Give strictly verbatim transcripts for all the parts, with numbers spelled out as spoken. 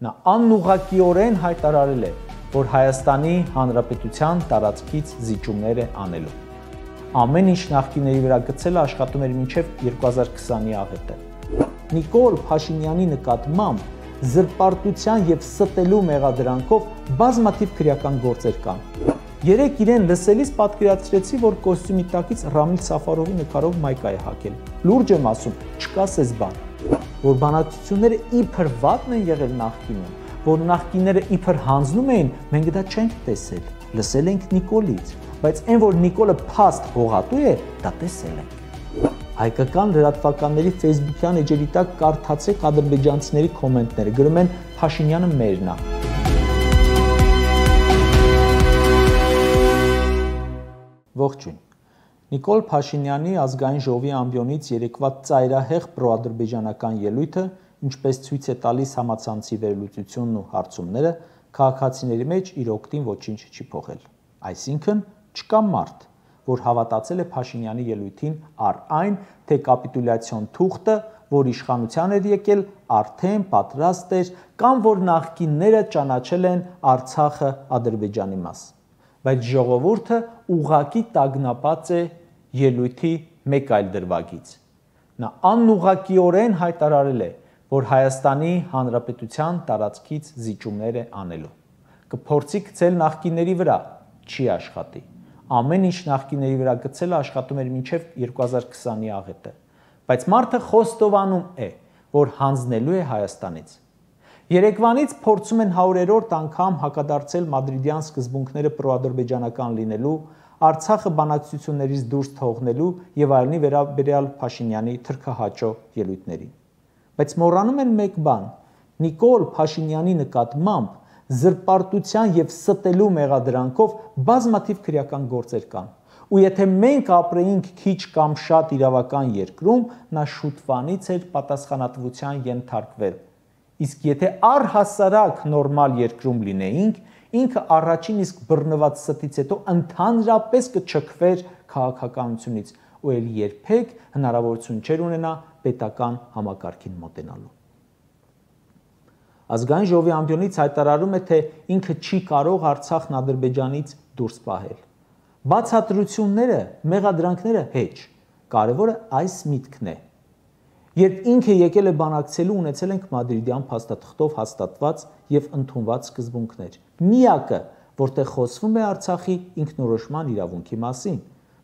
Նա անուղղակիորեն հայտարարել է, որ Հայաստանի Հանրապետության տարածքից զիջումներ է անելու։ Ամեն ինչ նախկինների վրա գցելը աշխատում էր մինչև երկու հազար քսանի աղետը։ Նիկոլ Փաշինյանի նկատմամբ զրպարտության եւ ստելու մեղադրանքով բազմաթիվ քրեական գործեր կան։ Երեք իրեն լսելիս պատկերացրեցի, որ կոստյումի տակից Ռամիլ Սաֆարովի նկարով մայկա է հագել։ Լուրջ եմ ասում, չկասես բան, որ բանակցությունները իբր վատն են եղել նախկինում, որ նախկինները իբր հանձնում էին, մենք դա չենք տեսել, լսել ենք Նիկոլից, բայց այն, որ Նիկոլը փաստ հողատու է, դա տեսել ենք։ Հայկական լրատվականների ֆեյսբուքյան էջերի տակ կարդացեք ադրբեջանցիների կոմենտները, գրում են Փաշինյանը մերն է։ Ողջույն։ Նիկոլ Փաշինյանի ազգային ժողովի ամբիոնից երեկվա ծայրահեղ պրոադրբեջանական ելույթը, ինչպես ցույց է տալիս համացանցի վերլուծությունն ու հարցումները, քաղաքացիների մեջ իր օգտին ոչինչ չի փոխել։ Այսինքն չկա մարդ, որ հավատացել է Փաշինյանի ելույթին առ այն, թե կապիտուլյացիոն թուղթը, որ իշխանության էր եկել, արդեն պատրաստ էր, կամ որ նախկինները ճանաչել են Արցախը Ադրբեջանի մաս։ Բայց ժողովուրդը ուղղակի տագնապած է ելույթի մեկ այլ դրվագից։ Նա անուղղակիորեն հայտարարել է, որ Հայաստանի Հանրապետության տարածքից զիջումներ է անելու։ Կփորձի գցել նախկինների վրա, չի աշխատի։ Ամեն ինչ նախկինների վրա գցելը աշխատում էր մինչև երկու հազար քսանի աղետը, բայց մարդը խոստովանում է, որ հանձնելու է Հայաստանից։ Երեկվանից փորձում են հարյուրերորդ անգամ հակադարձել մադրիդյան սկզբունքները պրոադրբեջանական լինելու, Արցախը բանակցություններից դուրս թողնելու եւ այլնի վերաբերյալ Փաշինյանի թրքահաճո ելույթներին։ Բայց մոռանում են մեկ բան. Նիկոլ Փաշինյանի նկատմամբ զրպարտության եւ ստելու մեղադրանքով բազմաթիվ քրեական գործեր կան։ Ու եթե մենք ապրեինք քիչ կամ շատ իրավական երկրում, նա շուտվանից էր պատասխանատվության ենթարկվել։ Իսկ եթե առհասարակ նորմալ երկրում լինեինք, ինքը առաջին իսկ բռնված ստից հետո ընդհանրապես կչքվեր քաղաքականությունից ու ել երբեք հնարավորություն չէր ունենա պետական համակարգին մոտենալու։ Ազգային ժողովի ամբիոնից հայտարարում է, թե ինքը չի կարող Արցախն Ադրբեջանից դուրս պահել։ Բացատրությունները, մեղադրանքները հեչ, կարևորը այս միտքն է։ Երբ ինքը եկել է բանակցելու, ունեցել ենք մադրիդյան փաստաթղթով հաստատված եւ ընդունված սկզբունքներ։ Միակը, որտեղ խոսվում է Արցախի ինքնորոշման իրավունքի մասին,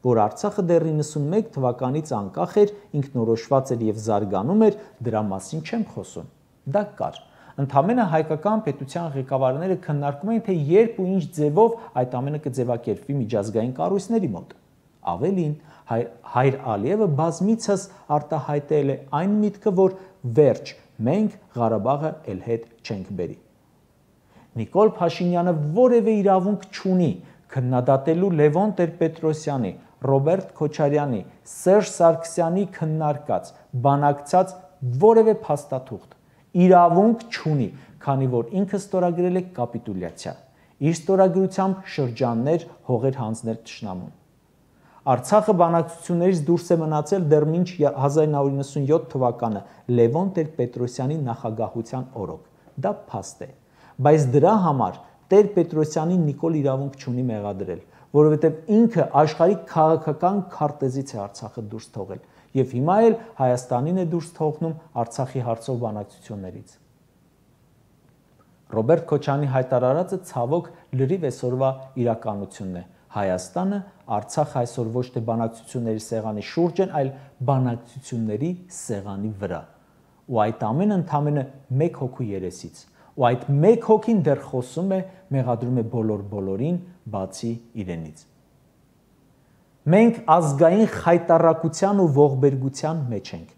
որ Արցախը դեռ իննսունմեկ թվականից անկախ էր, ինքնորոշված էր եւ զարգանում էր, դրա մասին չեմ խոսում։ Դա կար։ Ընդամենը հայկական պետության ղեկավարները քննարկում էին, թե երբ ու ինչ ձևով այդ ամենը կձևակերպվի միջազգային կառույցների մոտ։ Ավելին, Հայր Ալիևը բազմիցս արտահայտել է այն միտքը, որ վերջ, մենք Ղարաբաղը էլ հետ չենք բերի։ Նիկոլ Փաշինյանը որևէ իրավունք չունի քննադատելու Լևոն Տեր-Պետրոսյանի, Ռոբերտ Քոչարյանի, Սերժ Սարգսյանի քննարկած, բանակցած որևէ փաստաթուղթ։ Իրավունք չունի, քանի որ ինքը ստորագրել է կապիտուլյացիա։ Իր ստորագրությամբ շրջաններ հողեր հանձնել թշնամուն։ Արցախը բանակցություններից դուրս է մնացել դեռ մինչ հազար նույնսուն իննսունյոթ թվականը Լևոն Տեր-Պետրոսյանի նախագահության օրոք։ Դա փաստ է, բայց դրա համար Տեր-Պետրոսյանի Նիկոլ իրավունք չունի մեղադրել, որովհետև ինքը աշխարհի քաղաքական քարտեզից է Արցախը դուրս թողել եւ հիմա էլ Հայաստանին է դուրս թողնում Արցախի հարցով բանակցություններից։ Ռոբերտ Քոչարյանի հայտարարածը ցավոք լրիվ այսօրվա իրականությունն է։ Հայաստանը, Արցախը այսօր ոչ թե բանակցությունների սեղանի շուրջ են, այլ բանակցությունների սեղանի վրա։ Ու այդ ամենը ընդամենը մեկ հոգու երեսից։ Ու այդ մեկ հոգին դեռ խոսում է, մեղադրում է բոլոր բոլորին, բացի իրենից։ Մենք ազգային խայտառակության ու ողբերգության մեջ ենք։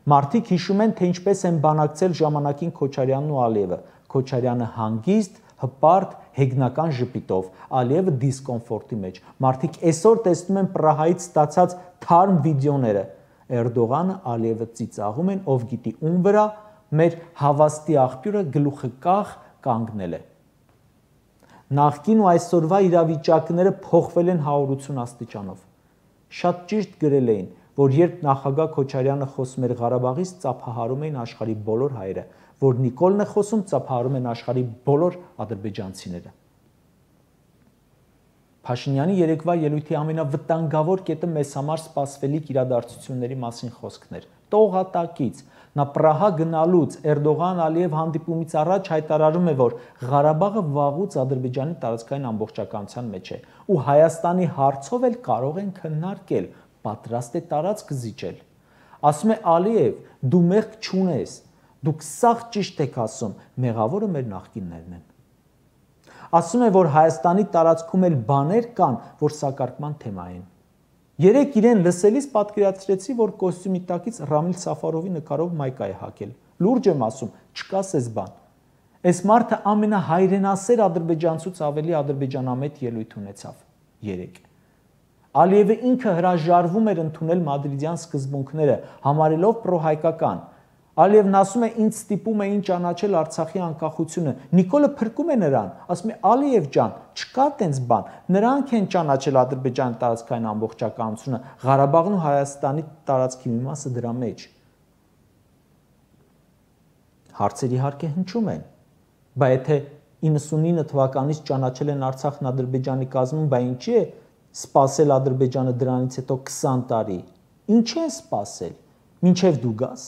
Մարդիկ հիշում են, թե ինչպես են բանակցել ժամանակին Քոչարյանն ու Ալիևը։ Քոչարյանը հանգիստ, հպարտ, հեգնական ժպիտով, Ալիևը դիսկոմֆորտի մեջ։ Մարդիկ այսօր տեսնում են Պրահայից ստացած թարմ վիդեոները։ Էրդողանը, Ալիևը ծիծաղում են, ով գիտի ում վրա, մեր հավաստի աղբյուրը գլուխը կախ կանգնել է։ Նախկին ու այսօրվա իրավիճակները փոխվել են հարյուրություն աստիճանով։ Շատ ճիշտ գրել էին, որ երբ նախագահ Քոչարյանը խոսում էր Ղարաբաղից, ծափահարում էին աշխարհի բոլոր հայերը, որ Նիկոլն է խոսում, ծափահարում են աշխարհի բոլոր ադրբեջանցիները։ Փաշինյանի երեկվա ելույթի ամենավտանգավոր կետը մեզ համար սպասվելիք իրադարձությունների մասին խոսքն էր։ Տողատակից նա Պրահա գնալուց Էրդողան-Ալիև հանդիպումից առաջ հայտարարում է, որ Ղարաբաղը վաղուց Ադրբեջանի տարածքային ամբողջականության մեջ է ու Հայաստանի հարցով էլ կարող են քննարկել, պատրաստ է տարածք զիջել։ Ասում է Ալիև, դու մեղք չունես, դուք սաղ ճիշտ եք ասում, մեղավորը մեր նախկիններն են։ Ասում է, որ Հայաստանի տարածքում էլ բաներ կան, որ սակարկման թեմա են։ Երեք իրեն լսելիս պատկերացրեցի, որ կոստյումի տակից Ռամիլ Սաֆարովի նկարով մայկա է հագել։ Լուրջ եմ ասում, չկասես բան։ Այս մարդը ամենահայրենասեր ադրբեջանցուց ավելի ադրբեջանամետ ելույթ ունեցավ երեք։ Ալիևը ինքը հրաժարվում էր ընդունել մադրիդյան սկզբունքները, համարելով պրոհայկական։ Ալիևն ասում է, ինձ ստիպում էին ճանաչել Արցախի անկախությունը։ Նիկոլը փրկում է նրան, ասում է Ալիև ջան, չկա տենց բան, նրանք են ճանաչել Ադրբեջանի տարածքային ամբողջականությունը, Ղարաբաղն ու Հայաստանի տարածքի մի մասը դրա մեջ։ Հարցեր իհարկե հնչում են, բայց եթե իննսունինը թվականից ճանաչել են Արցախն Ադրբեջանի կազմում, բա ինչի է սպասել Ադրբեջանը դրանից հետո քսան տարի։ Ինչ են սպասել, մինչև դու գաս։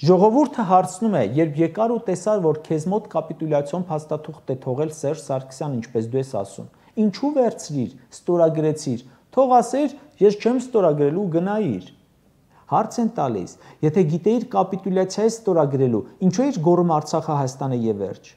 Ժողովուրդը հարցնում է, երբ եկար ու տեսար, որ քեզ մոտ կապիտուլյացիոն փաստաթուղթ է թողել Սերժ Սարգսյան, ինչպես դու ես ասում, ինչու վերցրիր, ստորագրեցիր, թող ասեր, ես չեմ ստորագրելու, գնայիր։ Հարց են տալիս, եթե գիտեիր կապիտուլյացիա ստորագրելու, ինչու էր գոռում Արցախը Հայաստանը եւ վերջ,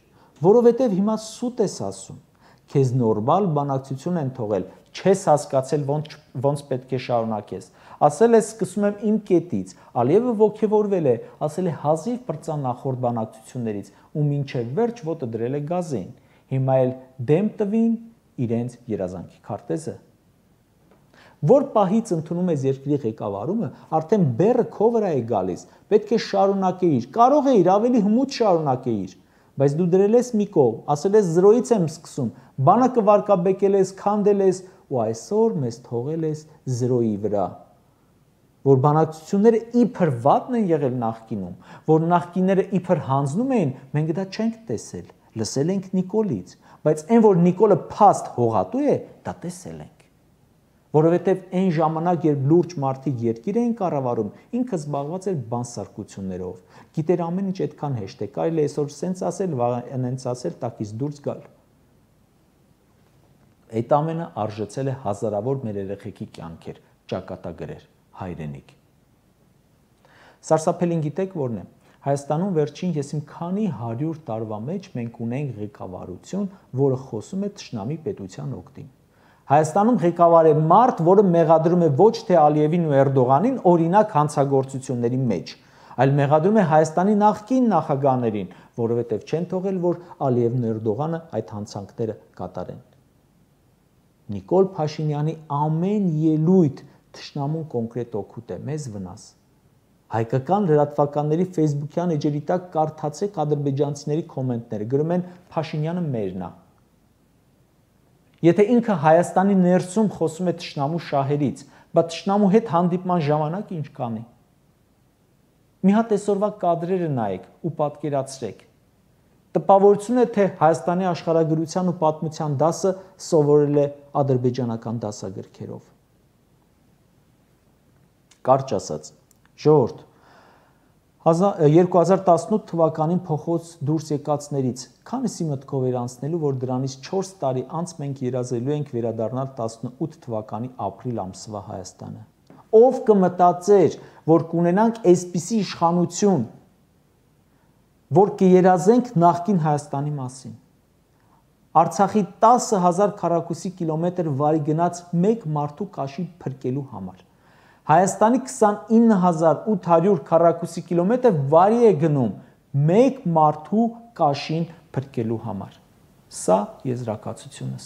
որովհետեւ հիմա սուտ ես ասում, քեզ նորմալ բանակցություն են թողել, չես հասկացել ոնց ոնց պետք է շարունակես։ Ասել է սկսում եմ իմ կետից, Ալիևը ոգևորվել է, ասել է հազիվ բրծան նախորդ բանակցություններից ու մինչև վերջ ոտը դրել է գազին։ Հիմա էլ դեմ տվին իրենց երազանքի քարտեզը։ Որ պահից ընդունում ես երկրի ղեկավարումը, արդեն բեռը քո վրա է գալիս, պետք է շարունակեիր, կարող էիր ավելի հմուտ շարունակեիր, բայց դու դրել ես մի կողմ, ասել ես զրոյից եմ սկսում, բանակը վարկաբեկել ես, քանդել ես ու այսօր մեզ թողել ես զրոյի վրա։ Որ բանակցությունները իբր վատն են եղել նախկինում, որ նախկինները իբր հանձնում էին, մենք դա չենք տեսել, լսել ենք Նիկոլից, բայց այն որ Նիկոլը փաստ հողատու է, դա տեսել ենք։ Որովհետև այն ժամանակ, երբ լուրջ մարդիկ երկիր էին կառավարում, ինքը զբաղված էր բանսարկություններով, գիտեր ամեն ինչ այդքան հեշտ է, կարելի է այսօր սենց ասել, վաղ ասել, տակից դուրս գալ։ Այդ ամենը արժեցել է հազարավոր մեր երեխեքի կյանքեր, ճակատագրեր, հայրենիք։ Սարսափելին գիտեք որն է։ Հայաստանում վերջին ես իմ քանի հարյուր տարվա մեջ մենք ունենք ղեկավարություն, որը խոսում է թշնամի պետության օգտին։ Հայաստանում ղեկավար է մարդ, որը մեղադրում է ոչ թե Ալիևին ու Էրդողանին օրինակ հանցագործությունների մեջ, այլ մեղադրում է Հայաստանի նախկին նախագահներին, որովհետև չեն թողել, որ Ալիևն ու Էրդողանը այդ հանցանքները կատարեն։ Նիկոլ Փաշինյանի ամեն ելույթ թշնամուն կոնկրետ օգուտ է, մեզ վնաս։ Հայկական լրատվականների ֆեյսբուքյան էջերի տակ կարդացեք ադրբեջանցիների կոմենտները, գրում են Փաշինյանը մերն է։ Եթե ինքը Հայաստանի ներսում խոսում է թշնամու շահերից, բա թշնամու հետ հանդիպման ժամանակ ինչ կանի։ Մի հատ այսօրվա կադրերը նայեք ու պատկերացրեք։ Տպավորություն է, թե Հայաստանի աշխարհագրության ու պատմության դասը սովորել է ադրբեջանական դասագրքերով։ Կարճ ասած, ժողովուրդ, երկու հազար տասնութ թվականին փոխոց դուրս եկածներից քանիսի մտքով էր անցնելու, որ դրանից չորս տարի անց մենք երազելու ենք վերադառնալ տասնութ թվականի ապրիլ ամսվա Հայաստանը։ Ով կմտածեր, որ կունենանք այսպիսի իշխանություն, որ կերազենք նախկին Հայաստանի մասին։ Արցախի տասը հազար քառակուսի կիլոմետր վարի գնաց մեկ մարդու կաշի փրկելու համար։ Հայաստանի քսանինը հազար ութ հարյուր քառակուսի կիլոմետր վարի է գնում մեկ մարդու կաշին փրկելու համար։ Սա եզրակացությունս։